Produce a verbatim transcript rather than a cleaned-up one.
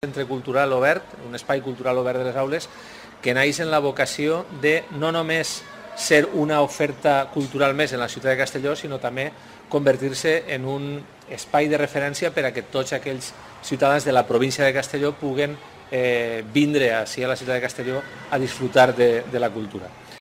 Centre cultural obert, un espai cultural obert de les aules, que naix en la vocació de no només ser una oferta cultural més en la ciutat de Castelló, sinó també convertir-se en un espai de referència per a que tots aquells ciutadans de la província de Castelló puguen eh, vindre així a la ciutat de Castelló a disfrutar de, de la cultura.